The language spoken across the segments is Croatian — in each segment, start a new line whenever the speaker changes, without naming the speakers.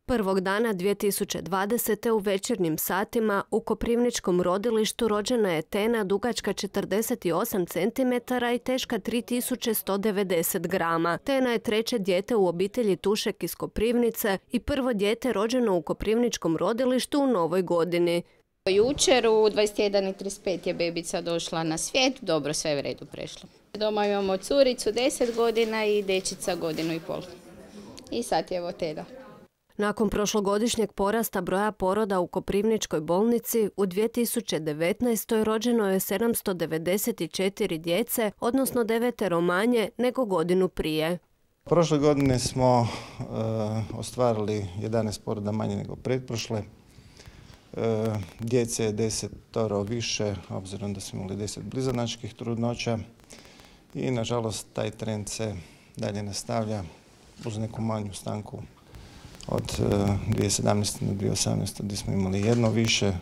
Prvog dana 2020. u večernjim satima u koprivničkom rodilištu rođena je Tena dugačka 48 cm i teška 3190 grama. Tena je treće dijete u obitelji Tušek iz Koprivnice i prvo dijete rođeno u koprivničkom rodilištu u novoj godini.
Jučer u 21:35 je bebica došla na svijet, dobro, sve je u redu prešlo. Doma imamo curicu 10 godina i dečica 1,5 godine. I sad je evo Teda.
Nakon prošlogodišnjeg porasta broja poroda u Koprivničkoj bolnici, u 2019. rođeno je 794 djece, odnosno 9 manje nego godinu prije.
Prošle godine smo ostvarili 11 poroda manje nego pretprošle. Djece je 10 više, obzirom da smo imali 10 blizanačkih trudnoća i nažalost taj trend se dalje nastavlja uz neku manju stanku od 2017. do 2018. gdje smo imali jedno više.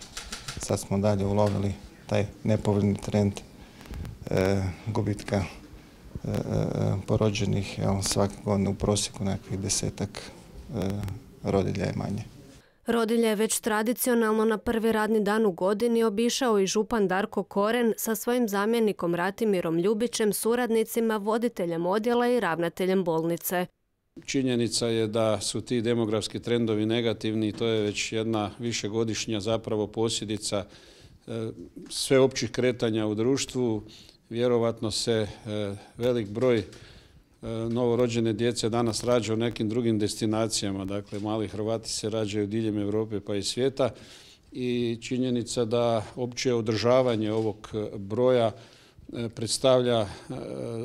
Sad smo dalje ulovili taj nepovoljni trend gubitka porođenih, svake godine u prosjeku nekakvih 10-ak rodilja je manje.
Rodilje je već tradicionalno na prvi radni dan u godini obišao i župan Darko Koren sa svojim zamjenikom Ratimirom Ljubićem, suradnicima, voditeljem odjela i ravnateljem bolnice.
Činjenica je da su ti demografski trendovi negativni i to je već jedna višegodišnja zapravo posljedica sveopćih kretanja u društvu. Vjerovatno se velik broj novorođene djece danas rađa u nekim drugim destinacijama. Dakle, mali Hrvati se rađaju diljem Europe pa i svijeta i činjenica da opće održavanje ovog broja predstavlja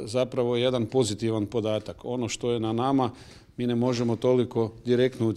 zapravo jedan pozitivan podatak. Ono što je na nama, mi ne možemo toliko direktno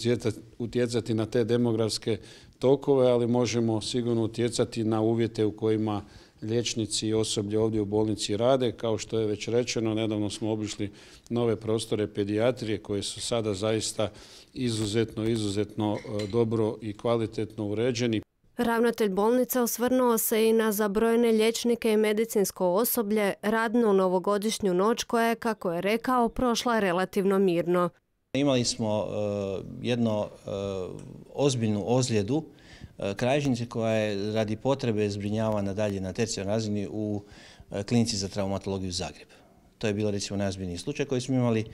utjecati na te demografske tokove, ali možemo sigurno utjecati na uvjete u kojima liječnici i osoblje ovdje u bolnici rade. Kao što je već rečeno, nedavno smo obišli nove prostore pedijatrije koje su sada zaista izuzetno dobro i kvalitetno uređeni.
Ravnatelj bolnice osvrnuo se i na zabrojene liječnike i medicinsko osoblje, radnu novogodišnju noć koja je, kako je rekao, prošla relativno mirno.
Imali smo jednu ozbiljnu ozljedu kralježnice koja je radi potrebe zbrinjavana dalje na tercijarnoj razini u klinici za traumatologiju Zagreb. To je bilo recimo najozbiljniji slučaj koji smo imali.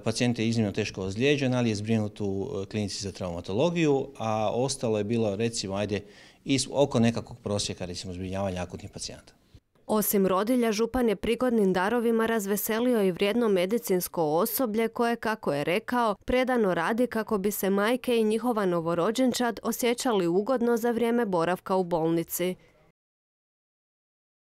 Pacijent je iznimno teško ozlijeđen, ali je zbrinut u klinici za traumatologiju, a ostalo je bilo recimo oko nekakvog prosjeka recimo zbrinjavanja akutnih pacijenata.
Osim rodilja, župan je prigodnim darovima razveselio i vrijedno medicinsko osoblje koje, kako je rekao, predano radi kako bi se majke i njihova novorođenčad osjećali ugodno za vrijeme boravka u bolnici.